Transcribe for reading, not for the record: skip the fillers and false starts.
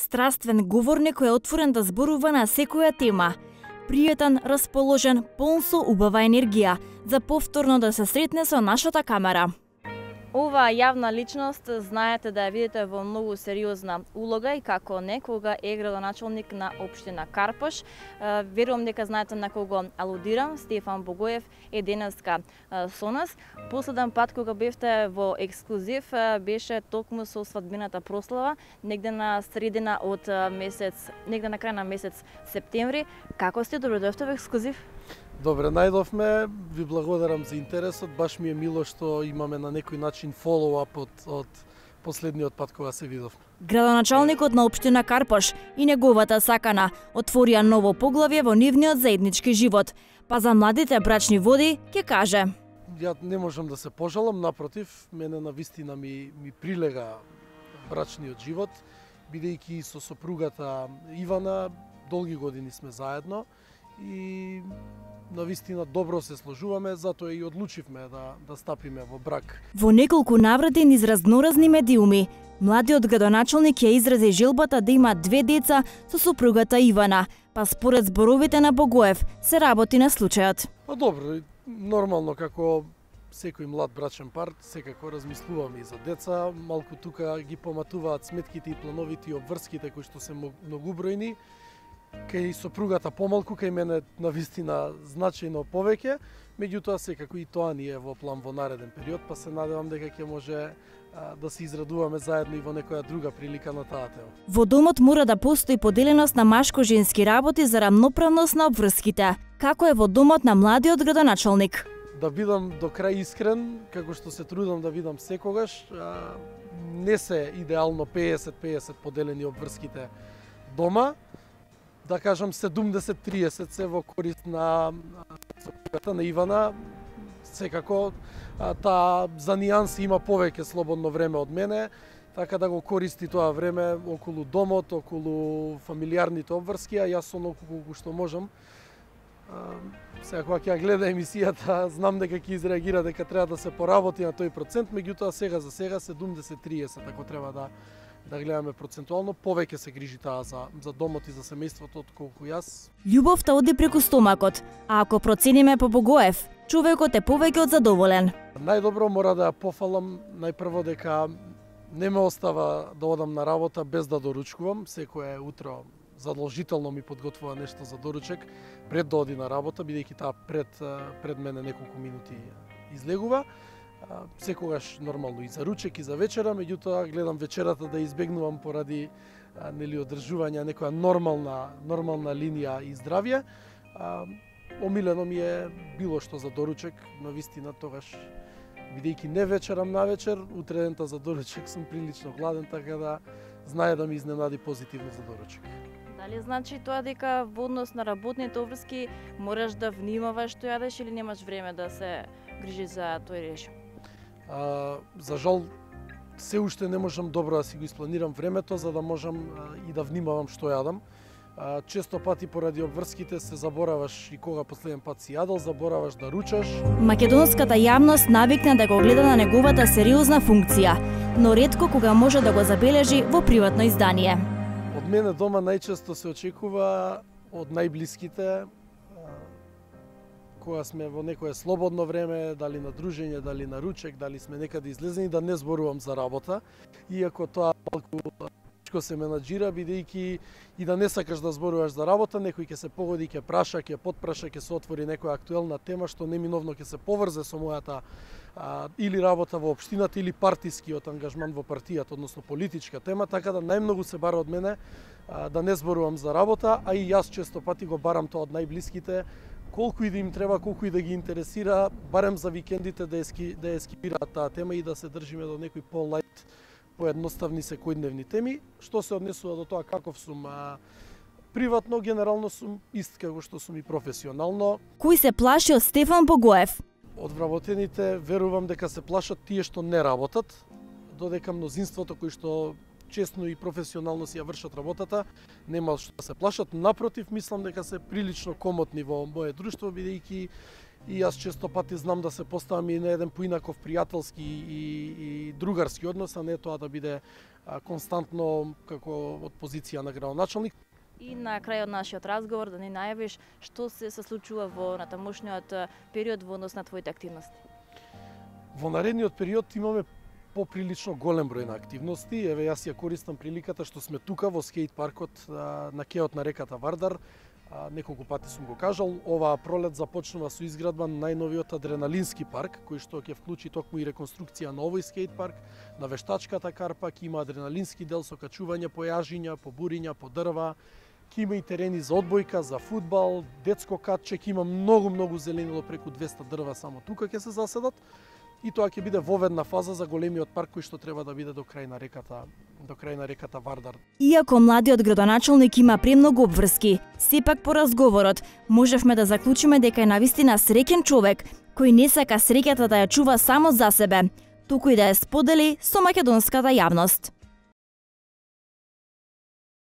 Страствен говорник кој е отворен да зборува на секоја тема. Пријатен, расположен, полн со убава енергија, за повторно да се сретне со нашата камера. Оваа јавна личност знаете да ја видите во многу сериозна улога и како некога е градоначалник на општина Карпош. Верувам дека знаете на кого алудирам. Стефан Богоев е денеска со нас. Последен пат кога бевте во ексклузив беше токму со свадбината прослава, негде на средина од месец, негде на крај на месец септември. Како сте, добро дојдовте во ексклузив? Добре, најдовме, ви благодарам за интересот, баш ми е мило што имаме на некој начин фоллоуап од последниот пат кога се видовме. Градоначалникот на општина Карпош и неговата сакана отворија ново поглавје во нивниот заеднички живот, па за младите брачни води ќе каже. Ја не можам да се пожалам, напротив, мене навистина ми прилега брачниот живот, бидејќи со сопругата Ивана долги години сме заедно и навистина добро се сложуваме, затоа и одлучивме да стапиме во брак. Во неколку наврати низ разноразни медиуми, младиот градоначалник ја изрази желбата да има 2 деца со сопругата Ивана, па според зборовите на Богоев се работи на случајот. Па добро, нормално како секој млад брачен пар, секако размислуваме и за деца, малку тука ги поматуваат сметките и плановите и обврските кои што се многубројни. Кај сопругата помалку, кај мене навистина значајно повеќе, меѓутоа секако и тоа ни е во план во нареден период, па се надевам дека ќе може да се израдуваме заедно и во некоја друга прилика на таа тема. Во домот мора да постои поделеност на машко-женски работи за рамноправност на обврските. Како е во домот на младиот градоначалник? Да бидам до крај искрен, како што се трудам да бидам секогаш, не се идеално 50-50 поделени обврските дома. Да кажам 70-30 се во корист на сопругата на Ивана. Секако таа за нијанси има повеќе слободно време од мене, така да го користи тоа време околу домот, околу фамилиарните обврски, а јас онолку колку што можам. Сега кога ќе ја гледа емисијата, знам дека ќе изреагира дека треба да се поработи на тој процент, меѓутоа сега за сега 70-30, ако треба да гледаме процентуално, повеќе се грижи таа за домот и за семејството отколку јас. Љубовта оди преку стомакот, а ако процениме по Богоев, човекот е повеќе од задоволен. Најдобро мора да ја пофалам најпрво дека не ме остава да одам на работа без да доручкувам. Секое утро задолжително ми подготвува нешто за доручек пред да оди на работа, бидејќи таа пред мене неколку минути излегува. Секогаш нормално и за ручек и за вечера, меѓутоа гледам вечерата да избегнувам поради одржување некоја нормална линија и здравје. Омилено ми е било што за доручек, навистина тогаш бидејќи не вечерам на вечер, утредента за доручек сум прилично гладен, така да знае да ми изненади позитивно за доручек. Дали значи тоа дека во однос на работните обврски мораш да внимаваш што јадеш или немаш време да се грижиш за тој режим? За жал, се уште не можам добро да си го испланирам времето, за да можам и да внимавам што јадам. Често пати поради обврските се забораваш и кога последен пат си јадел, забораваш да ручаш. Македонската јавност навикна да го гледа на неговата сериозна функција, но ретко кога може да го забележи во приватно издание. Од мене дома најчесто се очекува од најблиските, кога сме во некое слободно време, дали на дружење, дали на ручек, дали сме некаде излезени, да не зборувам за работа, иако тоа малку тешко се менаџира, бидејќи и да не сакаш да зборуваш за работа, некој ќе се погоди, ќе праша, ќе потпраша, ќе се отвори некоја актуелна тема што неминовно ќе се поврзе со мојата или работа во општината или партискиот ангажман во партијата, односно политичка тема, така да најмногу се бара од мене да не зборувам за работа, а и јас често пати го барам тоа од најблиските, колку и да им треба, колку и да ги интересира, барем за викендите да ја скипираат таа тема и да се држиме до некои по-лајт, поедноставни секојдневни теми. Што се однесува до тоа каков сум приватно, генерално сум ист како што сум и професионално. Кој се плаши од Стефан Богоев? Од вработените верувам дека се плашат тие што не работат, додека мнозинството кои што честно и професионално си ја вршат работата, нема што да се плашат. Напротив, мислам дека се прилично комотни во моје друштво, бидејќи и јас често пати знам да се поставам и на еден поинаков пријателски и другарски однос, а не тоа да биде константно како од позиција на градоначалник. И на крајот нашиот разговор да ни најавиш што се случува во натамошниот период во однос на твоите активности. Во наредниот период имаме поприлично голем број на активности. Еве јас ја користам приликата што сме тука во скејт паркот на кеот на реката Вардар. Неколку пати сум го кажал, оваа пролет започнува со изградба на најновиот адреналински парк, кој што ќе вклучи токму и реконструкција на овој скејт парк, на вештачката карпа, ќе има адреналински дел со качување по јажиња, по буриња, по дрва, ќе има и терени за одбојка, за фудбал, детско катче, ќе има многу зеленило, преку 200 дрва само тука ќе се заседат. И тоа ќе биде воведна фаза за големиот парк кој што треба да биде до крај на реката Вардар. Иако младиот градоначалник има премногу обврски, сепак по разговорот можевме да заклучиме дека е навистина среќен човек кој не сака среќата да ја чува само за себе, туку и да ја сподели со македонската јавност.